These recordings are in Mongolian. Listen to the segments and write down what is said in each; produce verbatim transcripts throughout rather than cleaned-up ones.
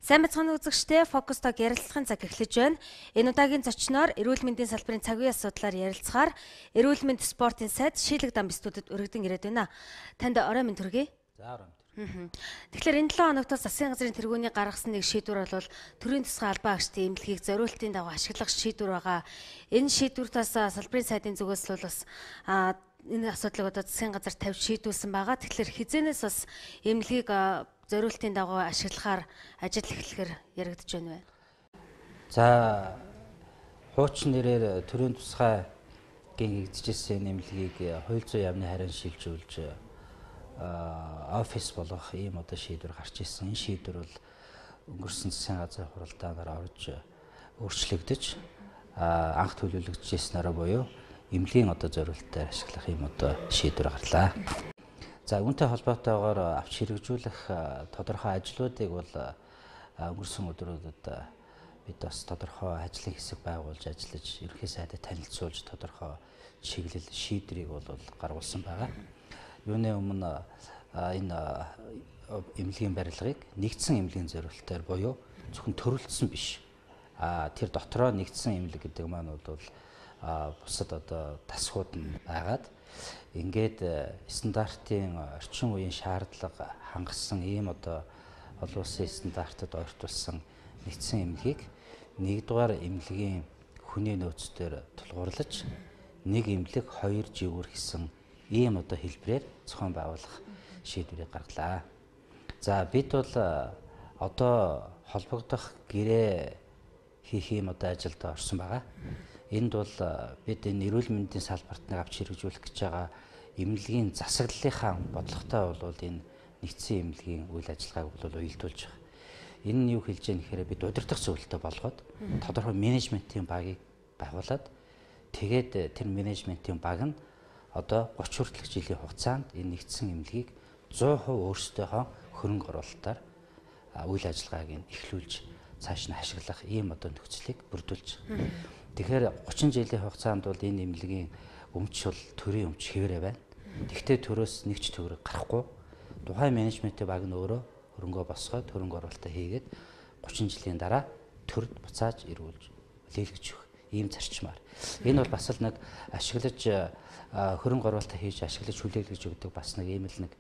Сайн бацхан үзэгчдээ Focus Talk ярилцлагын цаг эхлэж байна. Энэ удаагийн зочноор эрүүл мэндийн салбарын цаг үеийн асуудлаар ярилцахаар эрүүл мэнд спортын сайд Шилэг дам студид өргөдөн ирээд байна. Танд орой минь төргий. За орой минь. Тэгэхээр энэ долоо хоногтоос засгийн газрын тэргүүний гаргасан нэг шийдвэр бол төрийн тусгай албан агчдын эмнэлгийг зориултын дагуу ашиглах шийдвэр байгаа. Энэ шийдвэртээс салбарын сайдын зүгээс бол бас энэ асуудлыг одоо засгийн газар тавьж шийдүүлсэн байгаа. Тэгэхээр хизэнээс бас эмнэлгийг зориултын дагуу ашиглахаар ажил эхлэхээр яригдж байна вэ? За хуучин нэрээр төрийн тусгайгийнэгдэжсэн нэмлэгийг хууль зүйн яамны харин шилжүүлж офис болох ийм одоо шийдвэр гарч ирсэн. Энэ шийдвэр бол өнгөрсөн засгийн газрын хуралдаанаар орж өөрчлөгдөж анх төлөвлөгдөжсэнээрээ буюу эмнэлгийн одоо зориултаар ашиглах ийм одоо шийдвэр гарлаа. За үүнтэй холбоотойгоор авч хэрэгжүүлэх тодорхой ажлуудыг бол өнгөрсөн өдрүүдэд бид бас тодорхой ажлын хэсэг байгуулж ажиллаж ерөнхий сайдад танилцуулж тодорхой чиглэл шийдрийг бол гаргуулсан байгаа. Юуны өмнө энэ эмнэлгийн барилгыг нэгдсэн эмнэлгийн зориултаар буюу зөвхөн төрөлдсөн биш. А тэр дотроо нэгдсэн эмнэлэг гэдэг маань бол бусад одоо тасгууд нь байгаад ингээд стандартын орчин үеийн шаардлага хангасан ийм одоо олон улсын стандартад ойртуулсан нэгдсэн эмнэлгийг нэгдүгээр эмнэлгийн хүний нөөцдөр тулгуурлаж нэг эмнэлэг хоёр живгүүр гэсэн ийм одоо хэлбэрээр зохион байгуулах шийдвэрийг гаргалаа. За бид бол одоо холбогдох гэрээ хийх ийм одоо ажилд орсон байгаа. Энд бол бид энэ эрүүл мэндийн салбарт нэг авч хэрэгжүүлэх гэж байгаа эмнэлгийн засаглалынхаа бодлоготой бол энэ нэгдсэн эмнэлгийн үйл ажиллагааг бол уялдуулж байгаа. Энэ нь юу хэлж яах гэхээр бид удирдах зөвлөлтөй болгоод тодорхой менежментийн багийг байгуулад тэгээд тэр менежментийн баг нь одоо гучин хүртэлх жилийн хугацаанд энэ нэгдсэн эмнэлгийг сто процент өөрсдийнхөө хөрөнгө оруулалтаар үйл ажиллагааг нь эхлүүлж цааш нь ашиглах ийм одоо нөхцөлийг бүрдүүлж байгаа. Тэгэхээр гучин жилийн хугацаанд бол энэ эмнэлгийн өмч бол төрийн өмч хэвээрээ байна. Тэгвэл төрөөс нэг ч төгрөг гарахгүй. Тухайн менежментийн баг нь өөрөө хөрөнгөө босгоод хөрөнгө оруулалтаа хийгээд гучин жилийн дараа төрд буцааж ирүүлж лээлгэж өгөх ийм зарчмаар. Энэ бол бас л нэг ашиглаж хөрөнгө оруулалтаа хийж ашиглаж хүлээлгэж өгдөг бас нэг ийм л нэг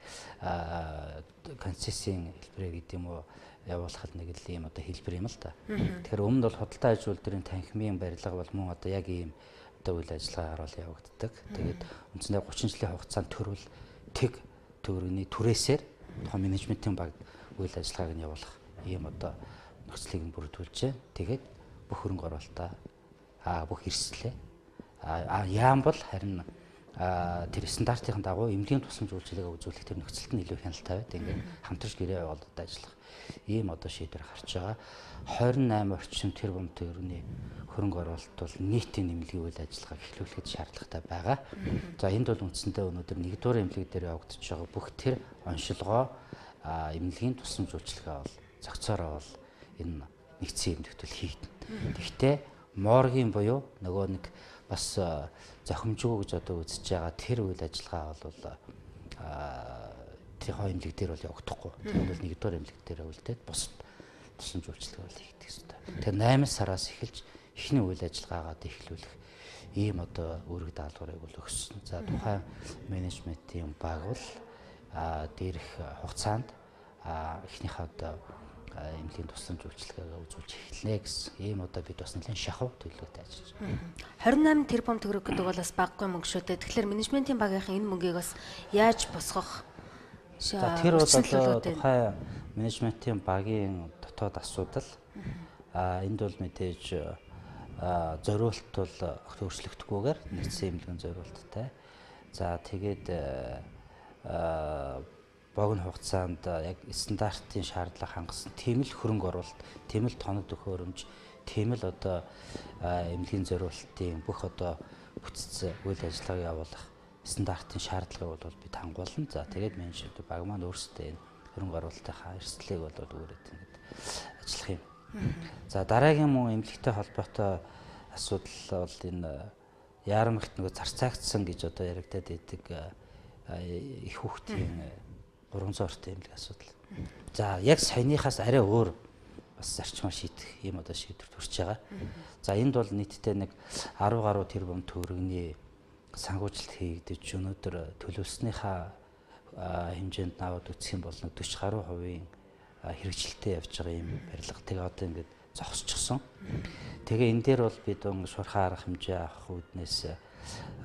концессийн хэлбэрээ гэдэг юм уу явуулах нэг л ийм одоо хэлбэр юм л да. Тэгэхээр өмнө бол худалдаа аж үйлдвэрийн танхимын барилга бол мөн одоо яг ийм одоо үйл ажиллагаагаар бол явагддаг. Тэгээд үндсэндээ гучин жилийн хугацаанд төрөл тэг төгрөгийн түрээсээр тухайн менежментийн баг үйл ажиллагааг нь явуулах ийм одоо нөхцөлийг нь бүрдүүлжээ. Тэгээд бүх хөрөнгө оруулалтаа а бүх эрсдлээ а яам бол харин тэр стандартын дагуу эмнэлгийн тусламж үйлчилгээгээ үзүүлэх тэр нөхцөлд нь илүү хяналттай байд. Ингээд хамтарч гэрээ явуулаад ажиллах ийм одоо шийдвэр гарч байгаа. двадцать восемь орчим тэрбум төгрөгийн хөрөнгө оруулалт бол нийтийн эмнэлгийн үйл ажиллагааг эхлүүлэхэд шаардлагатай байгаа. За энд бол үндсэндээ өнөөдөр нэгдүгээр эмнэлэг дээр явагдаж байгаа бүх тэр оншилгоо эмнэлгийн тусламж үйлчилгээ бол зохицоороо бол энэ нэгдсэн эмнэлэгт бол хийгдэнэ. Гэхдээ моргийн буюу нөгөө нэг бас зохимжгүй гэж одоо үзэж байгаа тэр үйл ажиллагаа бол тэр хоёр эмнэлэг дээр бол явагдахгүй. Тэр бол нэгдүгээр эмнэлэг дээр үлдээд бусад тусламж үйлчилгээ бол хийгдэх ёстой. Тэр восемь сараас эхэлж эхний үйл ажиллагаагаа эхлүүлэх ийм одоо үүрэг даалгаврыг бол өгсөн. За тухайн менежментийн баг бол дээрх хугацаанд эхнийхээ одоо эмнэлгийн тусламж үйлчилгээгээ үзүүлж эхэлнэ гэсэн ийм одоо бид бас нэлээд шахав төлөвлөгөөтэй ажиллаж байна. двадцать восемь тэрбум төгрөг гэдэг бол бас баггүй мөнгө шүү дээ. Тэгэхээр менежментийн багийнхан энэ мөнгийг бас яаж босгох? За тэр бол одоо тухайн менежментийн багийн дотоод асуудал. А энд бол мэдээж зориулт бол огт өөрчлөгдөхгүйгээр нэгдсэн эмнэлгийн зориулттай. За тэгээд богино хугацаанд яг стандартын шаардлага хангасан тийм л хөрөнгө оруулалт, тийм л тоног төхөөрөмж, тийм л одоо эмнэлгийн зориултын бүх одоо бүтц үйл ажиллагааг явуулах стандартын шаардлагыг бол бид хангуулна. За тэгээд менежмент баг маань өөрсдөө энэ хөрөнгө оруулалтынхаа эрсдлийг бол өөрөд ингэж ажиллах юм. За дараагийн мөн эмнэлэгтэй холбоотой асуудал бол энэ яарамгт нөгөө зарцаагдсан гэж одоо яригадад идэг их хүүхдийн гурван цортой эмнэлэг асуудал. За яг саяныхаас арай өөр бас зарчмаар шийдэх ийм одоо шийдвэр төрж байгаа. За энд бол нийтдээ нэг арван гаруй тэрбум төгрөгийн санхүүжилт хийгдэж өнөөдөр төлөвлөснийхаа хэмжээнд наваад үсэх юм бол дөрвөн гаруй хувийн хэрэгжилттэй явж байгаа юм барилга. Тэгээ одоо ингээд зогсчихсон. Тэгээ энэ дээр бол бид шуурхай арга хэмжээ авах үүднээс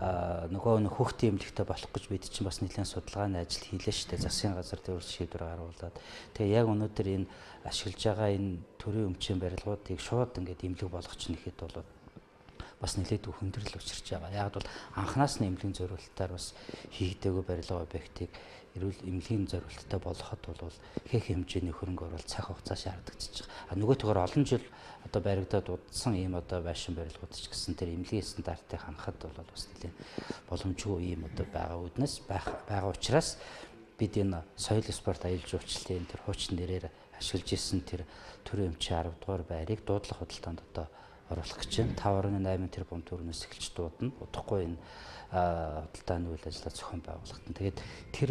нөгөө нэг хүүхдийн эмнэлэгтэй болох гэж бид чинь бас нэлээд судалгааны ажил хийлээ шүү дээ. Засгийн газар дээр шийдвэр гаргуулад. Тэгээ яг өнөөдөр энэ ашиглаж байгаа энэ төрийн өмчийн барилгуудыг шууд ингээд эмнэлэг болгох чинь ихэд бол бас нэлээд хүндрэл учирч байгаа. Яг бол анханаас нь эмнэлгийн зориулалтаар бас хийгдээгүй барилга объектыг эрүүл эмнэлгийн зориулалттай болгоход бол их хэмжээний хөрөнгө оруулалт цаг хугацаа шаардагдчихж байгаа. А нөгөө төгөр олон жил одоо баригдаад удсан ийм одоо байшин барилгууд ч гэсэн тэр эмнэлгийн стандартыг хангахад бол бас нэлээд боломжгүй ийм одоо байгаа үднэс байх байгаа учраас бид энэ соёл спорт аюул жуулчлалын тэр хуучин нэрээр ашиглаж исэн тэр төрийн өмчийн арав дугаар байрыг дуудлах худалдаанд одоо оруулах гэж байна. таван гаруй найман тэрбум төгрөгнөөс эхэлж дуудана. Удахгүй энэ худалдааны үйл ажиллагаа зохион байгуулалт нь. Тэгээд тэр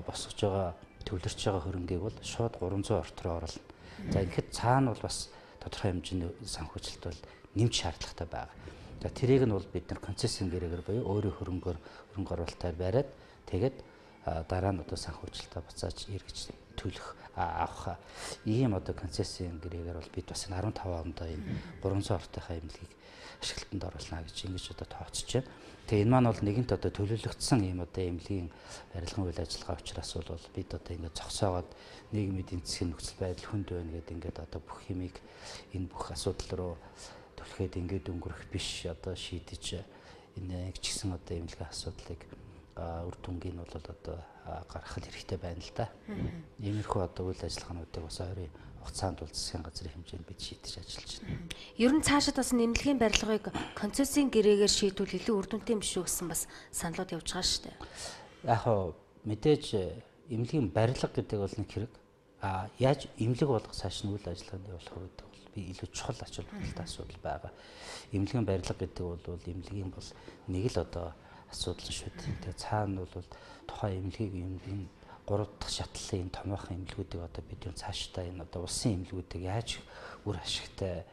босгож байгаа төвлөрч байгаа хөрөнгийг бол шууд гурван зуун орт руу оруулна. За ингээд цаана бол бас тодорхой хэмжээний санхүүжилт бол нэмж шаардлагатай байгаа. За тэрийг нь бол бид нар концессийн гэрээгээр буюу өөрийн хөрөнгөөр хөрөнгө оруулалтаар бариад тэгээд дараа нь одоо санхүүжилтаа буцааж эргэж төлөх авах ийм одоо концессийн гэрээгээр бол бид бас арван таван ондоо ийм гурван зуун ортынхаа эмнэлгийг ашиглалтанд оруулна гэж ингэж одоо тооцож байна. Тэгээ энэ маань бол нэгэнт одоо төлөвлөгдсөн ийм одоо эмнэлгийн барилгын үйл ажиллагаа учраас бол бид одоо ингэ зогсоогоод нийгмийн эдийн засгийн нөхцөл байдал хүнд байна гэдэг ингээд одоо бүх юмыг энэ бүх асуудал руу түлхээд ингээд өнгөрөх биш одоо шийдэж энэ ч гэсэн одоо эмнэлгийн асуудлыг үр дүнгийн бол одоо гаргах хэрэгтэй байна л да. Иймэрхүү одоо үйл ажиллагаануудыг бас ойрын хугацаанд бол засгийн газрын хэмжээнд бид шийдэж ажиллаж байна. Ер нь цаашид бас нэмлэгийн барилгыг концессийн гэрээгээр шийдвэл илүү үр дүнтэй юм шүү гэсэн бас саналууд явж байгаа шүү дээ. Яг хоо мэдээж эмнэлгийн барилга гэдэг бол нэг хэрэг. А яаж эмнэлэг болгох цааш нь үйл ажиллагаанд явуулах гэдэг бол би илүү чухал ач холбогдолтой асуудал байгаа. Эмнэлгийн барилга гэдэг бол эмнэлгийн бол нэг л одоо асуудал шүү дээ. Тэгээ цаана бол тухайн эмнэлгийг эмнэлгийн гурав дахь шатлалын томоохон эмнэлгүүдийг одоо бид юу цаашдаа энэ одоо улсын эмнэлгүүдийг яаж үр ашигтай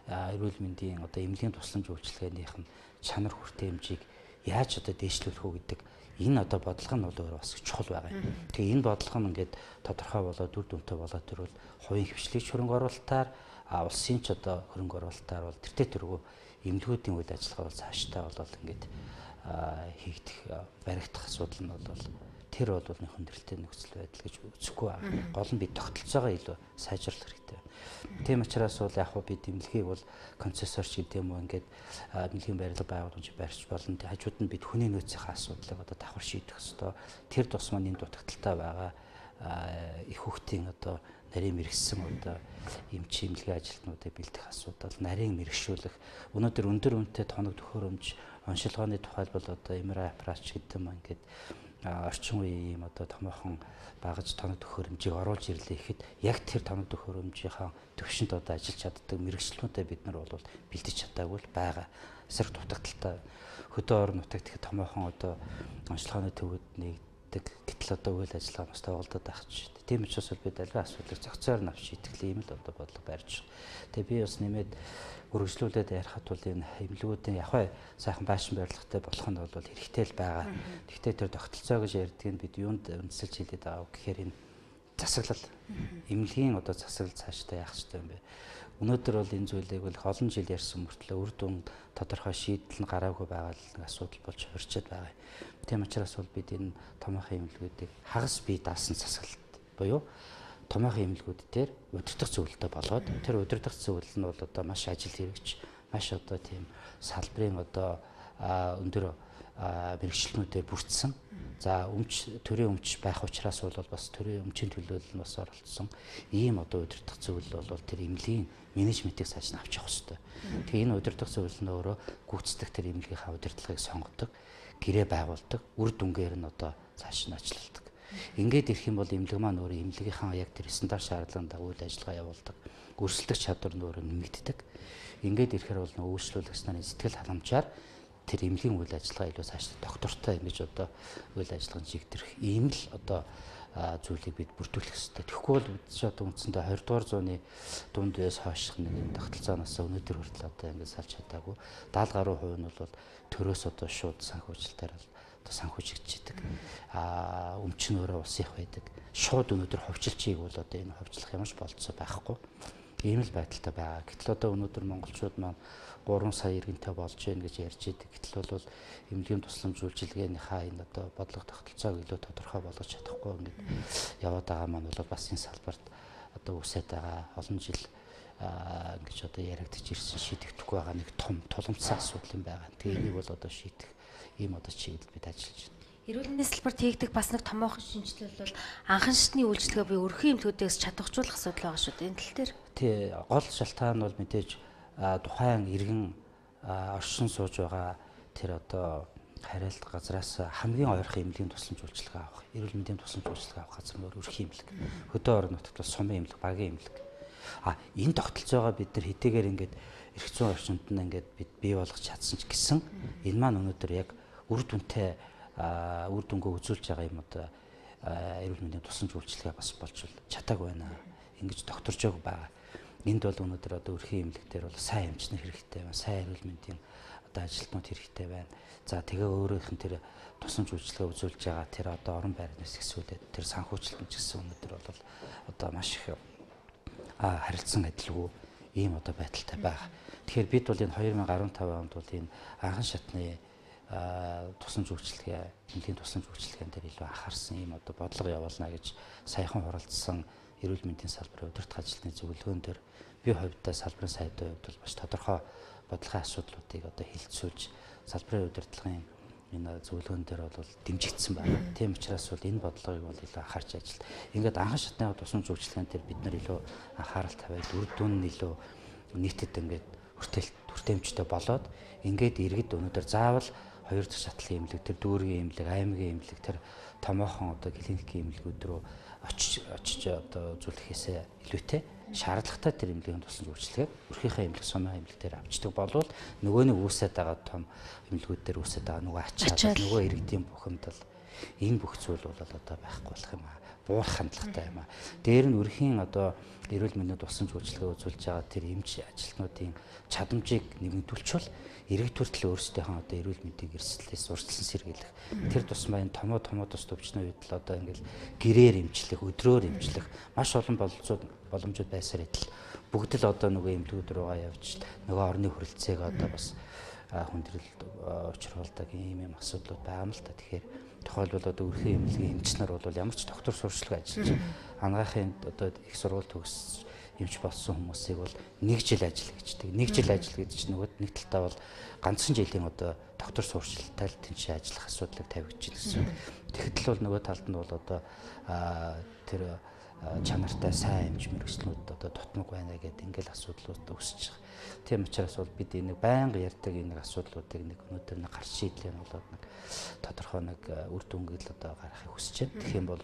эрүүл мэндийн одоо эмнэлгийн тусламж үйлчилгээнийх нь чанар хүртээ хэмжээг яаж одоо дээшлүүлэх үү гэдэг энэ одоо бодлого нь бол өөр бас чухал байгаа юм. Тэгээ энэ бодлого нь ингээд тодорхой болоод дүр дүнтэй болоод тэрвэл хувийн хвшлийг хөрөнгө оруулалтаар улсын ч одоо хөрөнгө оруулалтаар бол тэртээ тэргүй эмнэлгүүдийн үйл ажиллагаа бол цаашдаа болоод ингээд хийгдэх баригдах асуудал нь бол тэр бол нэг хүндрэлтэй нөхцөл байдал гэж үзэхгүй байна. Гол нь бид тогтолцоогоо илүү сайжруулах хэрэгтэй. Тийм учраас бол яг хөө бид эмнэлгийг бол концессорч гэдэг юм уу ингээд эмнэлгийн барилга байгууламж барьж болно. Хажууд нь бид хүний нөөцийн асуудлыг одоо давхар шийдэх ёстой. Тэр тус маань энэ дутагдaltaй байгаа их хүүхдийн одоо нарийн мэрэгсэн одоо эмч эмнэлгийн ажилтнуудыг бэлдэх асуудал, нарийн мэрэгшүүлэх, өнөөдөр өндөр үнэтэй тоног төхөөрөмж, оншилгооны тухайлбал одоо эм ар ай аппарат гэдэг юм ингээд орчин үеийн ийм одоо томоохон багаж тоног төхөөрөмжийг оруулж ирлээ гэхэд яг тэр тоног төхөөрөмжийнхаа төвшөнд одоо ажиллаж чаддаг мэрэгчлүүдэд бид нар бол бэлдэж чадаагүй л байгаа. Эсрэг дутагдaltaй хөдөө орон нутагт их томоохон одоо онцлогооны төвөд нэгдэг гэтэл одоо үйл ажиллагаа бас тоглодод байх ч. Тийм учраас бид аливаа асуудлыг зохицоор нь авч шийдэх юм л одоо бодлого барьж. Тэгээ би бас нэмээд үргэлжлүүлээд ярихад бол энэ эмнэлгүүдийн яг сайхан байшин барилгатай болох нь бол хэрэгтэй л байгаа. Гэхдээ тэр тогтолцоо гэж ярьдаг нь бид юунд үндэслэж хэлээд байгаа гэхээр энэ засаглал эмнэлгийн одоо засаглал цаашдаа яах ёстой юм бэ? Өнөөдөр бол энэ зүйлийг бол олон жил ярьсан мөртлөө үр дүн тодорхой шийдэл нь гараагүй байгаа л асуудал болж хорчод байгаа. Тийм учраас бол бид энэ томоохон эмнэлгүүдийг хагас бие даасан засаглалт буюу томоохон эмнэлгүүд дээр удирдах зөвлөлтөй болоод тэр удирдах зөвлөл нь бол одоо маш ажил хэрэгч, маш одоо тийм салбарын одоо өндөр мэрэгчлэнүүдээр бүрдсэн. За өмч төрийн өмч байх учраас бол бас төрийн өмчийн төлөөлөл нь бас оролцсон. Ийм одоо удирдах зөвлөл бол тэр эмнэлгийн менежментийг цааш нь авч явах хэрэгтэй. Тэгээ энэ удирдах зөвлөл нь өөрөө гүйцэтгэх тэр эмнэлгийнхаа удирдлагыг сонгодог, гэрээ байгуулдаг, үр дүнгээр нь одоо цааш нь ажилладаг. Ингээд ирэх юм бол эмнэлэг маань өөрөө эмнэлгийнхаа яг тэр стандарт шаардлагын дагуу үйл ажиллагаа явуулдаг. Өрсөлдөх чадвар нь өөрөө нэмэгддэг. Ингээд ирэхээр бол нөө үйлчлүүлэгч нарын сэтгэл халамжаар тэр эмнэлгийн үйл ажиллагаа илүү цааш доктортой ингэж одоо үйл ажиллагаанд чигдэрх ийм л одоо зүйлийг бид бүрдүүлэх хэрэгтэй. Тэгэхгүй бол бид ч одоо үндсэндээ хоёрдугаар зууны дунд үеэс хойших нэг тогтолцооноос өнөөдөр хүртэл одоо ингээд салж чадаагүй. даатгаль гаруй хувь нь бол төрөөс одоо шууд санхүүжилтээр одоо санхүүжигдчихэдэг. Аа өмч нь өөрөө улсын их байдаг. Шууд өнөөдөр ховжилчийг бол одоо энэ ховжлох ямарч болцоо байхгүй. Ийм л байдалтай байгаа. Гэтэл одоо өнөөдөр монголчууд маань гурван сая иргэнтэй болж гин гэж ярьж идэг. Гэтэл бол эмнэлгийн тусламж үйлчилгээнийхээ энэ одоо бодлого тогтолцоог илүү тодорхой болгож чадахгүй ингээд яваад байгаа маань бол бас энэ салбарт одоо үсээд байгаа олон жил ингэж одоо яригдж ирсэн шийдэгдэхгүй байгаа нэг том тулгымцсан асуудал юм байгаа. Тэгээ энийг бол одоо шийдэх ийм одоо чиглэлд бид ажиллаж байна. Эрүүл мэндийн салбарт хийгдэх бас нэг томоохон шинжилэл бол анхан шатны үйлчлэгээ буюу өрхийн эмнэлгүүдээс чадваржуулах асуудал байгаа шүү дээ. Энэ тал дээр. Тий, гол шалтгаан нь бол мэдээж тухайн иргэн оршин сууж байгаа тэр одоо хариалт газраас хамгийн ойрхон эмнэлгийн тусламж үйлчилгээ авах, эрүүл мэндийн тусламж үйлчилгээ авах газар нь өрхийн эмнэлэг. Хөдөө орон нутагт бол сумын эмнэлэг, багийн эмнэлэг. А энэ тогтолцоогоо бид нар хэдийгээр ингээд эрх зүйн орчинд нь ингээд бид бий болгож чадсан ч гэсэн энэ маань өнөөдөр яг үр дүнтэй үр дүнгээ үзүүлж байгаа юм одоо эрүүл мэндийн тусламж үйлчилгээ бас болж чадаагүй байна. Ингэж докторжоог байгаа. Энд бол өнөөдөр одоо өрхийн эмнэлэг дээр бол сайн эмчнэр хэрэгтэй байна. Сайн эрүүл мэндийн одоо ажилтнууд хэрэгтэй байна. За тэгээ өөрөөх нь тэр тусламж үйлчилгээ үзүүлж байгаа тэр одоо орон байрнаас ихсүүлээд тэр санхүүжилт ч гэсэн өнөөдөр бол одоо маш их харилцан адилгүй ийм одоо байдалтай байгаа. Тэгэхээр бид бол энэ две тысячи десятый онд бол энэ анхан шатны тусламж үйлчилгээ, эмнэлгийн тусламж үйлчилгээнд дээр илүү анхаарсан ийм одоо бодлого явуулна гэж саяхан хуралдсан эрүүл мэндийн салбарын удирдах ажилтны зөвлөгөөн дээр би хувьдаа салбарын сайдын хувьд бол маш тодорхой бодлогын асуудлуудыг одоо хилцүүлж салбарын удирдлагын энэ зөвлөгөөн дээр бол дэмжигдсэн байна. Тийм учраас бол энэ бодлогыг бол илүү анхаарч ажил. Ингээд анхан шатны тусламж үйлчилгээнд дээр бид нар илүү анхаарал тавиад үр дүн нь илүү нийтэд ингээд хүртэл хүртээмжтэй болоод ингээд иргэд өнөөдөр заавал хоёр дахь шатлын эмнэлэг, тэр дүүргийн эмнэлэг, аймгийн эмнэлэг, тэр томоохон одоо клиникийн эмнэлгүүд рүү очиж очиж одоо үзүүлэхээсээ илүүтэй шаардлагатай тэр эмнэлгийн тусламж үйлчилгээг өрхийнхээ эмнэлэг, сумын эмнэлэг дээр авчдаг болвол нөгөө нэг үүсээд байгаа том эмнэлгүүд дээр үүсээд байгаа нөгөө ачаал, нөгөө иргэдийн бухимдал энэ бүх зүйл бол одоо байхгүй болох юм аа. Буурах хандлагатай юм аа. Дээр нь өрхийн одоо эрүүл мэндийн тусламж үйлчилгээ үзүүлж байгаа тэр эмч ажилтнуудын чадамжийг нэмэгдүүлчихвэл иргэд хүртэл өөрсдийнхөө одоо эрүүл мэндийн эрсдлээс урьдчилан сэргийлэх. Тэр тусмаа энэ томоо томоо тус төвчнөө үед л одоо ингээл гэрээр эмчлэх, өдрөөр эмчлэх маш олон боломжууд боломжууд байсаар идэл бүгд л одоо нөгөө эмнэлгүүд рүүгээ явж нөгөө орны хүрэлцээг одоо бас хүндрэлд учруулдаг ийм юм асуудлууд байгаа юм л та. Тэгэхээр тухайлбал одоо өрхийн эмнэлгийн эмч нар бол ямар ч доктор сурчлага ажиллаж анагаахын одоо их сургууль төгс эмч болсон хүмүүсийг бол нэг жил ажил гэждэг. Нэг жил ажил гэдэг чинь нөгөө нэг талтаа бол ганцхан жилийн одоо доктор сурчлагтай л тэнцээ ажиллах асуудлыг тавигдчихна гэсэн. Тэгэхдээ бол нөгөө талд нь бол одоо тэр чанартай сайн эмч мэргэжлүүд одоо тутмаг байна гэдэг ингээл асуудлууд үүсэж байгаа. Тийм учраас бол бид энийг байнга ярьдаг энэ асуудлуудыг нэг өнөөдөр нэг гарч шийдлээ нь болоод нэг тодорхой нэг үр дүнгээл одоо гаргахыг хүсэж байна. Тэгэх юм бол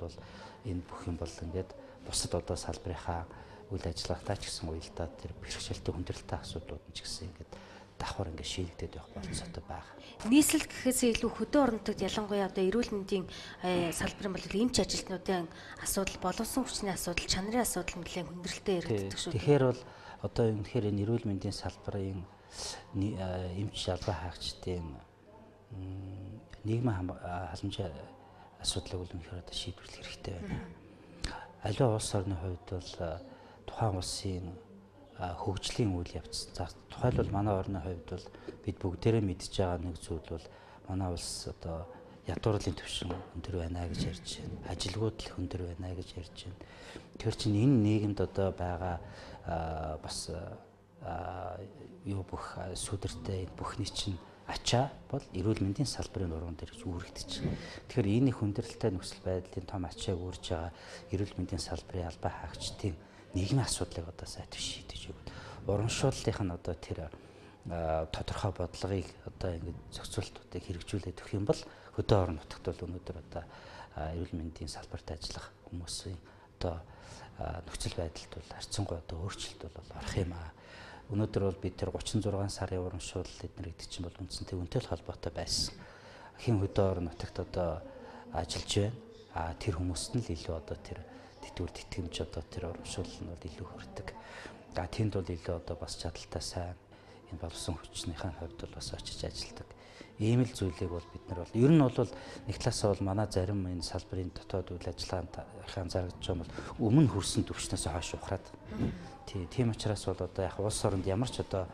энэ бүх юм бол ингээд бусад одоо салбарынхаа үйл ажиллагаатай ч гэсэн уялдаа тэр бэрхшээлтэй хүндрэлтэй асуудлууд нь ч гэсэн ингээд давхар ингээд шийдэгдээд явах болцоотой байгаа. Нийслэл гэхээсээ илүү хөдөө орон нутагт ялангуяа одоо эрүүл мэндийн салбарын бол эмч ажилтнуудын асуудал, боловсон хүчний асуудал, чанарын асуудал нэлээд хүндрэлтэй яригддаг шүү. Тэгэхээр бол одоо үнэхээр энэ эрүүл мэндийн салбарын эмч жалгаа хаагчдын нийгмийн халамжийн асуудлыг бол үнэхээр одоо шийдвэрлэх хэрэгтэй байна. Аливаа улс орны хувьд бол тухайн улсын хөгжлийн үйл явц. За тухайлбал манай орны хувьд бол бид бүгдээрээ мэдж байгаа нэг зүйл бол манай улс одоо ядуурлын түвшин өндөр байна гэж ярьж байна. Ажилгүйд л өндөр байна гэж ярьж байна. Тэгэхээр чинь энэ нийгэмд одоо байгаа бас юу бүх сүдэртэй бүхний чинь ачаа бол эрүүл мэндийн салбарын нуруунд ирж үүрэгдэж байна. Тэгэхээр энэ хүндрэлтэй нөхцөл байдлын том ачааг үүрж байгаа эрүүл мэндийн салбарын албаа хаагчдын нийгмийн асуудлыг одоо сайтар шийдэж өгöd. Урамшууллынх нь одоо тэр тодорхой бодлогыг одоо ингэ зохицуултуудыг хэрэгжүүлээд өгөх юм бол хөдөө орон нутагт бол өнөөдөр одоо эрүүл мэндийн салбарт ажиллах хүмүүсийн одоо нөхцөл байдалд бол харьцангуй одоо өөрчлөлт бол орох юм аа. Өнөөдөр бол бид тэр гучин зургаан сарын урамшуул эднэр гэдэг чинь бол үндсэнтэй үнэтэй холбоотой байсан. Хэн хөдөө орон нутагт одоо ажиллаж байна. А тэр хүмүүст нь л илүү одоо тэр тэтгэвэр тэтгэмж одоо тэр урамшуул нь бол илүү хүрдэг. А тэнд бол илүү одоо бас чадaltaй сайн энэ боловсон хүчнийхэн хувьд бол бас очиж ажилладаг. Ийм л зүйлийг бол бид нар бол ер нь бол нэг талаасаа бол манай зарим энэ салбарын дотоод үйл ажиллагаанд анзаарч байгаа бол өмнө хүрсэн төвчнөөс хойш ухраад. Тий, тийм учраас бол одоо яг улс оронд ямар ч одоо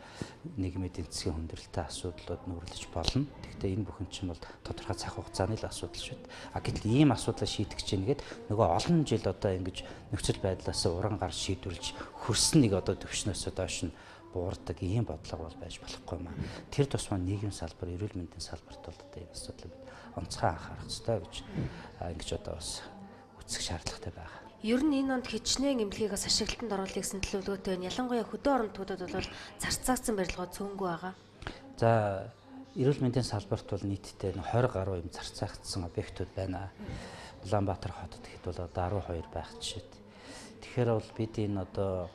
нийгмийн эдийн засгийн хүндрэлтэй асуудлууд нүүрлэж болно. Гэхдээ энэ бүхэн чинь бол тодорхой цаг хугацааны л асуудал шүү дээ. А гэтэл ийм асуудлаа шийдэх гэж нэгээд нөгөө олон жил одоо ингэж нөхцөл байдлаас уран гар шийдвэрлэж хөрсөн нэг одоо төвчнөөс доош нь буурдаг ийм бодлого бол байж болохгүй маа. Тэр тусмаа нийгмийн салбар, эрүүл мэндийн салбарт бол одоо энэ асуудлыг бид онцгой анхаарах ёстой гэж ингэж одоо бас үзэх шаардлагатай байна. Ер нь энэ онд хичнээн эмнэлгийг бас ашиглалтанд оруулах гэсэн төлөвлөгөөтэй байна. Ялангуяа хөдөө орон нутгуудад бол зарцаагдсан барилгууд цөөнгүй байгаа. За, эрүүл мэндийн салбарт бол нийтдээ тwenty гаруй юм зарцаагдсан объектууд байна. Улаанбаатар хотод ихэд бол одоо twelve байх жишээд. Тэгэхээр бол бид энэ одоо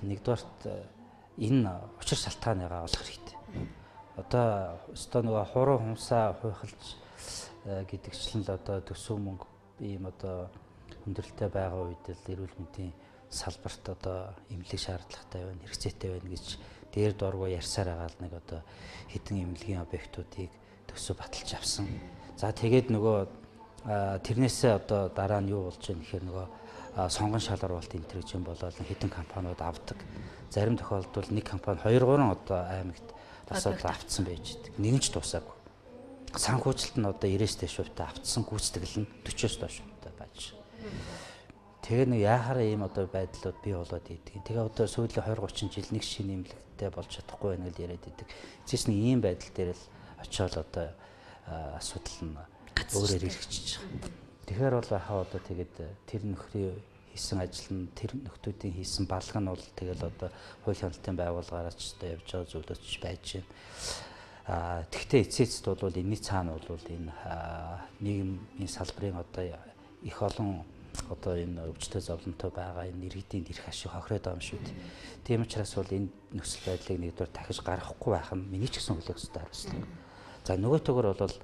нэгдүгээрт энэ учир шалтгааныгаа олох хэрэгтэй. Одоо өстой нөгөө хуруу хумсаа хуйхалж гэдэгчлэн л одоо төсөв мөнгө ийм одоо хүндрэлтэй байгаа үед л эрүүл мэндийн салбарт одоо эмнэлэг шаардлагатай байна, хэрэгцээтэй байна гэж дээр дургу ярьсаар байгаа л нэг одоо хэдэн эмнэлгийн объектуудыг төсөв баталж авсан. За тэгээд нөгөө тэрнээсээ одоо дараа нь юу болж байгаа нэхэр нөгөө сонгон шалгаруулалт энэ төр юм болоод хэдэн компаниуд авдаг. Зарим тохиолдолд нэг компани two three одоо аймагт асуудал автсан байж байгаа. Нэгэн ч тусаагүй. Санхүүжилт нь одоо ninety-с дээш хувьтай автсан гүйцэтгэл нь forty-с доош хувьтай байж. Тэгээ нэг яахаараа ийм одоо байдлууд бий болоод идэг. Тэгээ одоо сүүлийн twenty thirty жил нэг шинэ эмнэлэгтэй болж чадахгүй байна гэж яриад идэг. Эцэс нь ийм байдал дээр л очиод одоо асуудал нь өөрөөр хэрэгжиж байгаа. Тэгэхээр бол хаа одоо тэгээд тэр нөхрийн хийсэн ажил нь тэр нөхдүүдийн хийсэн балга нь бол тэгэл одоо хууль хяналтын байгууллагаараач одоо явж байгаа зүйлөөч байж байна. А тэгвэл эцээцд бол энэний цаана бол энэ нийгмийн салбарын одоо их олон одоо энэ өвчтөе зовлонтой байгаа энэ иргэдийн эрх ашиг хохироод байгаа юм шүү дээ. Тийм учраас бол энэ нөхцөл байдлыг нэгдүгээр дахиж гаргахгүй байх нь миний ч гэсэн хүлээх ёстой хариуцлага. За нөгөө төгөр бол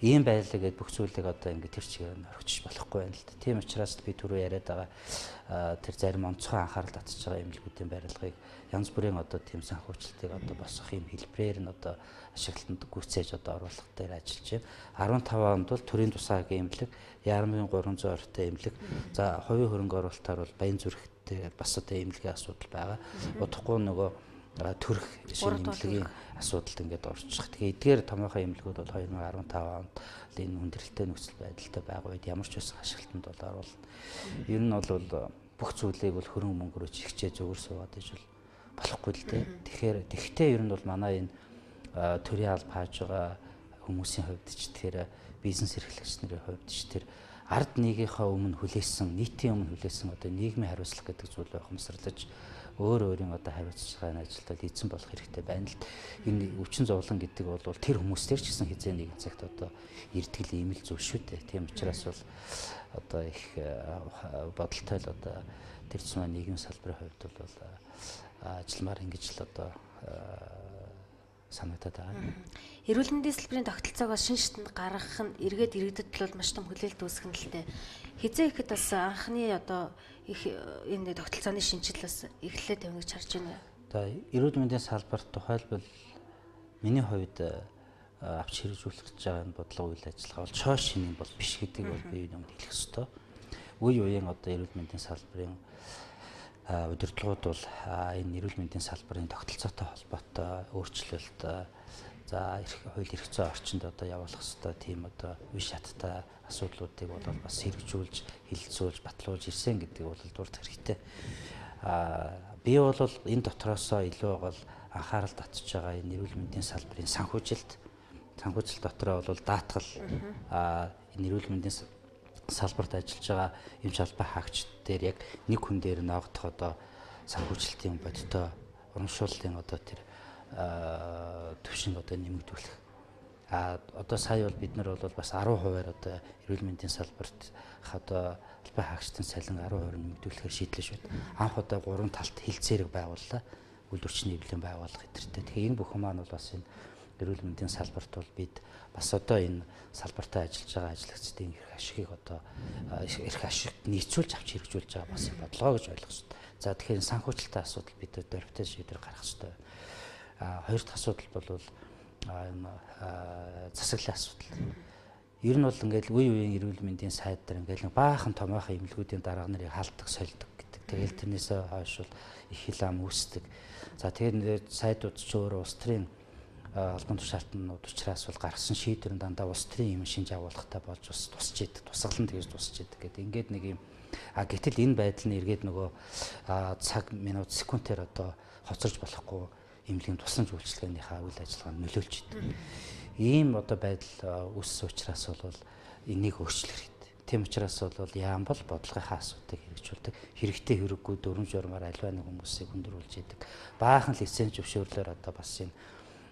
ийм байлаа гэдээ бүх зүйлийг одоо ингэ тэр чигээр нь орхиж болохгүй байна л да. Тийм учраас би түрүү яриад байгаа тэр зарим онцгой анхаарал татж байгаа эмнэлгүүдийн барилгыг янз бүрийн одоо тийм санхүүжилтийг одоо босгох юм хэлбэрээр нь одоо ашиглалтанд гүйцээж одоо оруулах дээр ажиллаж байна. fifteen онд бол төрийн тусаагийн эмнэлэг, Яармын three hundred ортой эмнэлэг, за хувийн хөрөнгө оруулалтаар бол Баян зүрхтэй бас одоо эмнэлгийн асуудал байгаа. Удахгүй нөгөө төрх шинэ эмнэлгийн асуудалд ингээд орчих. Тэгээ эдгээр томоохон эмнэлгүүд бол twenty fifteen онд энэ хүндрэлтэй нөхцөл байдалтай байгаа үед ямар ч байсан ашиглалтанд бол оруулна. Ер нь бол бүх зүйлийг бол хөрөнгө мөнгө рүү чигчээ зүгээр суугаад иж бол болохгүй л дээ. Тэгэхээр тэгтээ ер нь бол манай энэ төрийн алба хааж байгаа хүмүүсийн хувьд ч тэр бизнес эрхлэгч нарын хувьд ч тэр ард нийгийнхаа өмнө хүлээсэн, нийтийн өмнө хүлээсэн одоо нийгмийн хариуцлага гэдэг зүйл байх юмсарлаж өөр өөрийн одоо хариуцлагын ажилтнууд эзэн болох хэрэгтэй байна л. Энэ өвчин зовлон гэдэг бол тэр хүмүүстээр ч гэсэн хязгаар нэгэн цагт одоо ирдгэл ийм л зүйл шүү дээ. Тийм учраас бол одоо их бодолтой л одоо тэр цэцмаа нийгмийн салбарын хувьд бол ажилламаар ингэж л одоо санагдаад байгаа. Эрүүл мэндийн салбарын тогтолцоогоос шин шатнд гаргах нь эргээд иргэдэд бол маш том хүлээлт үүсгэн л дээ. Хизээ ихэд бас анхны одоо их энэ тогтолцооны шинжил бас эхлээд явна гэж харж байна. За эрүүл мэндийн салбарт тухайлбал миний хувьд авч хэрэгжүүлэх гэж байгаа энэ бодлого үйл ажиллагаа бол чоо шинийн бол биш гэдгийг бол би юмд хэлэх ёстой. Үе үеийн одоо эрүүл мэндийн салбарын удирдлагууд бол энэ эрүүл мэндийн салбарын тогтолцоотой холбоотой өөрчлөлт за хууль эрх зүйн орчинд одоо явуулах ёстой тийм одоо үе шаттай асуудлуудыг бол бас хэрэгжүүлж, хилцүүлж, батлуулж ирсэн гэдэг бол дурд хэрэгтэй. А би бол энэ дотроосоо илүү бол анхаарал татж байгаа энэ эрүүл мэндийн салбарын санхүүжилт, санхүүжилт дотроо бол даатгал а энэ эрүүл мэндийн салбарт ажиллаж байгаа эмч албан хаагч дээр яг нэг хүн дээр ноогдох одоо санхүүжилтийн бодтой урамшууллын одоо тэр төвшин одоо нэмэгдүүлэх. А одоо сая бол бид нар бол бас ten хувиар одоо эрүүл мэндийн салбарт одоо албан хаагчдын цалин ten хувиар нэмэгдүүлэхээр шийдлээ шүү. Анх одоо гурван талт хилцээрэг байгууллаа. Үйлдвэрчний эвлэлийн байгууллага хэдэртэй. Тэгэхээр энэ бүхэн маань бол бас энэ эрүүл мэндийн салбарт бол бид бас одоо энэ салбартаа ажиллаж байгаа ажлагчдын эрх ашигыг одоо эрх ашигт нийцүүлж авч хэрэгжүүлж байгаа бас бодлого гэж ойлгох хэрэгтэй. За тэгэхээр санхүүжилтийн асуудал бид дөрвтэй шийдвэр гаргах хэрэгтэй. А хоёр дахь асуудал бол энэ засаглалын асуудал. Ер нь бол ингээл үе үеийн эрүүл мэндийн сайд дээр ингээл баахан томоохон эмнэлгүүдийн дарга нарыг халддаг, сольдог гэдэг. Тэгэл тэрнээсээ хойш бол их хилам үүсдэг. За тэгээд сайдууд ч өөр улс төрийн албан тушаалтнууд учраас бол гаргасан шийдвэр нь дандаа улс төрийн юм шинж агуулгатай болж бас тусч идэг, тусгалан тэгж тусч идэг гэдэг. Ингээд нэг юм а гэтэл энэ байдал нь эргээд нөгөө цаг минут секундээр одоо хоцорж болохгүй эмнэлгийн тусламж үйлчилгээнийхээ үйл ажиллагаанд нөлөөлж идэг. Ийм одоо байдал үүссэн учраас бол энийг өөрчлөх хэрэгтэй. Тийм учраас бол яам бол бодлогынхаа асуудыг хэрэгжүүлдэг. Хэрэгтэй хэрэггүй дөрвөн журмаар альва нэг хүмүүсийг хүндрүүлж идэг. Баахан лиценз зөвшөөрлөөр одоо бас энэ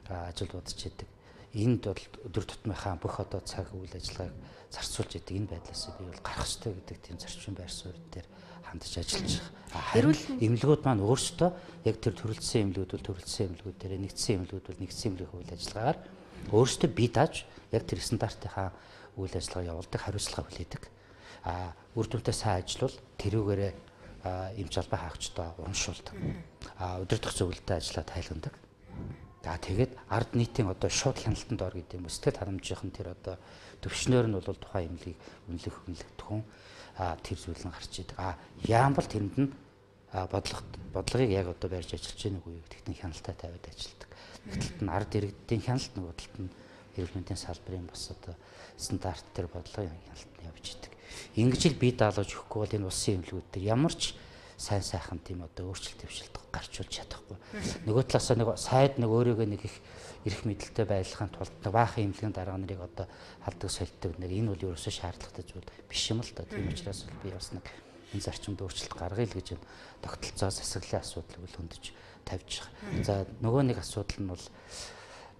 ажил удаж идэг. Энд бол өдөр тутмынхаа бүх одоо цаг үйл ажиллагааг зарцуулж идэг. Энэ байдлаас би бол гарах ёстой гэдэг тийм зарчим байр суурь дээр хандаж ажиллаж байгаа. Харин эмнэлгүүд маань өөрсдөө яг тэр төрөлцсөн эмнэлгүүд бол төрөлцсөн эмнэлгүүд дээр нэгдсэн эмнэлгүүд бол нэгдсэн эмнэлгийн үйл ажиллагаар өөрсдөө бие дааж яг тэр стандартынхаа үйл ажиллагаа явуулдаг, хариуцлага хүлээдэг. А үр дүнтэй сайн ажиллавал тэрүүгээрээ эмч албан хаагчдаа урамшуулдаг. А удирдах зөвлөлтөд ажиллаад тайлгандаг. За тэгээд ард нийтийн одоо шууд хяналтанд ор гэдэг юм. Сэтгэл харамжийнхан тэр одоо төвшнөр нь бол тухайн эмнэлгийг үнэлэх үнэлэгдэх хүн а тэр зүйл нь гарч идэг. А яам бол тэрэнд нь бодлого бодлогыг яг одоо барьж ажиллаж байгааг үе гэдэгт хяналтаа тавиад ажилладаг. Талд нь ард иргэдийн хяналт, нөгөө талд нь эрүүл мэндийн салбарын бас одоо стандарт төр бодлогын хяналт нь явж идэг. Ингэж л бие даалгаж өгөхгүй бол энэ улсын эмнэлгүүд төр ямар ч сайн сайхан тийм одоо өөрчлөлт төвшөлт гарчулж чадахгүй. Нөгөө талаас нэг сайд нэг өөрийгөө нэг их эрх мэдэлтэй байлгахын тулд баахан эмнэлгийн дарга нарыг одоо халддаг сольдог нэг энэ бол ерөөсөө шаардлагатай зүйл биш юм л да. Тийм учраас би бас нэг энэ зарчимд өөрчлөлт гаргая л гэж энэ тогтолцоо засаглалын асуудлыг л хөндөж тавьж байгаа. За нөгөө нэг асуудал нь бол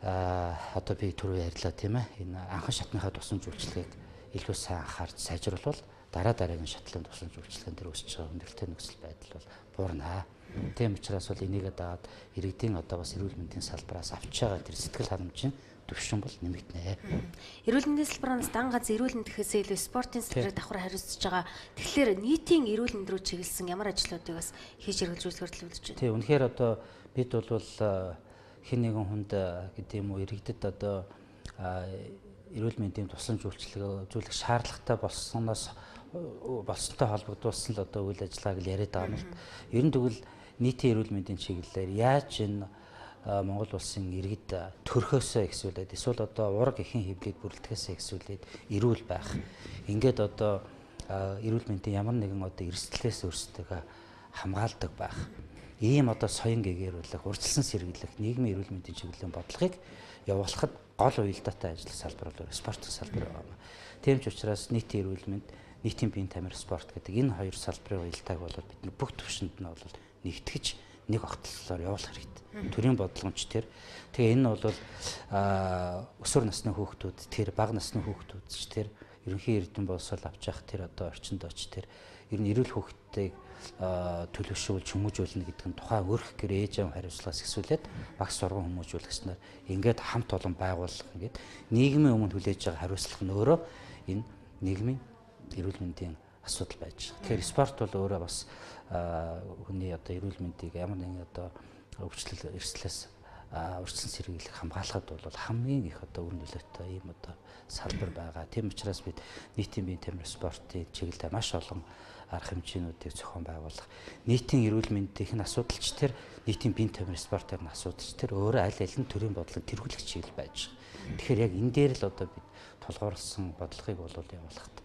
а одоо би түрүү ярьлаа тийм ээ. Энэ анхан шатныхаа тусламж үйлчилгээг илүү сайн анхаарч сайжруулбал дараа дараагийн шатлалын тусламж үйлчилгээнд төр өсөж байгаа хүндрэлтэй нөхцөл байдал бол буурнаа. Тийм учраас бол энийгээ дагаад иргэдийн одоо бас эрүүл мэндийн салбараас авч байгаа тэр сэтгэл харамжийн төвшин бол нэмэгдэнэ. Эрүүл мэндийн салбараас дан ганц эрүүл мэнд гэхээс илүү спортын салбарыг давхар хариуцж байгаа. Тэгэхээр нийтийн эрүүл мэнд рүү чиглэсэн ямар ажлуудыг бас хийж хэрэгжүүлэхээр төлөвлөж байна. Тийм үнэхээр одоо бид бол хэн нэгэн хүнд гэдэг юм уу иргэдэд одоо эрүүл мэндийн тусламж үйлчилгээ үзүүлэх шаардлагатай болсноос болсонтой холбогдуулсан л одоо үйл ажиллагааг л яриад байгаа юм л. Ер нь тэгвэл нийтийн эрүүл мэндийн чиглэлээр яаж энэ Монгол улсын иргэд төрхөөсөө ихсүүлээд эсвэл одоо ураг эхийн хөвлөд бүрэлдэхээсээ ихсүүлээд эрүүл байх. Ингээд одоо эрүүл мэндийн ямар нэгэн одоо эрсдлээс өөрсдөө хамгаалдаг байх. Ийм одоо соён гэгэрүүлэх, урьдчилан сэргийлэх нийгмийн эрүүл мэндийн чиглэлийн бодлогыг явуулахад гол уялдаатай ажиллах салбар бол спортын салбар байна. Тийм ч учраас нийтийн эрүүл мэнд, нийтийн биеийн тамир спорт гэдэг энэ хоёр салбарын уялдааг бол бид бүх төвшөнд нь бол нэгтгэж нэг огтлолоор явуулах хэрэгтэй. Төрийн бодлогомч тэр. Тэгээ энэ нь бол өсвөр насны хүүхдүүд тэр, бага насны хүүхдүүд ч тэр, ерөнхий эрдэм боловсрол авч явах тэр одоо орчинд оч тэр ер нь эрүүл хүүхдтэйг төлөвшүүлж хүмүүжүүлнэ гэдэг нь тухайн өрх гэр ээж аав хариуцлагаас ихсүүлээд багц сургууль хүмүүжүүлэхснээр ингээд хамт олон байгууллага ингээд нийгмийн өмнө хүлээж байгаа хариуцлага нь өөрөө энэ нийгмийн эрүүл мэндийн асуудал байж байгаа. Тэгэхээр спорт бол өөрөө бас хүний одоо эрүүл мэндийг ямар нэгэн одоо өвчлөл эрсдлээс урьдчилан сэргийлэх хамгаалахад бол хамгийн их одоо үр нөлөөтэй ийм одоо салбар байгаа. Тийм учраас бид нийтийн биеийн тамир спортын чиглэлээр маш олон арга хэмжээнүүдийг зохион байгуулах. Нийтийн эрүүл мэндийн асуудалч тэр нийтийн биеийн тамир спортын асуудалч тэр өөрөө аль аль нь төрийн бодлого тэргүүлэх чиглэл байж байгаа. Тэгэхээр яг энэ дээр л одоо бид тулгуурласан бодлогыг бол явуулахад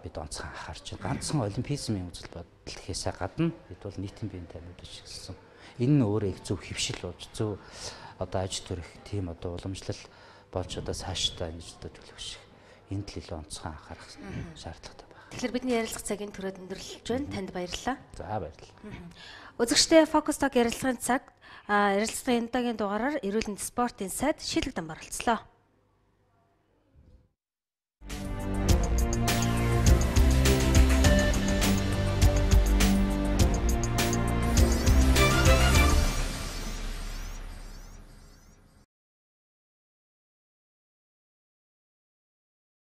бид онцгой анхаарч байна. Ганцхан олимпизмын үзэл бодол гэхээсээ гадна бид бол нийтийн биеийн тамирыг чиглэсэн. Энэ нь өөрөө их зөв хөвшил болж зөв одоо аж төрөх тийм одоо уламжлал болж одоо цаашдаа ингэж одоо төлөвшөх энд л илүү онцгой анхаарах шаардлагатай байна. Тэгэхээр бидний ярилцах цагийн түрээд өндөрлөж байна. Танд баярлалаа. За баярлалаа. Үзэгчдээ Focus Talk ярилцлагын цаг ярилцлагын энэ удаагийн дугаараар эрүүл мэндийн спортын сайд Шилэг Дам оролцлоо.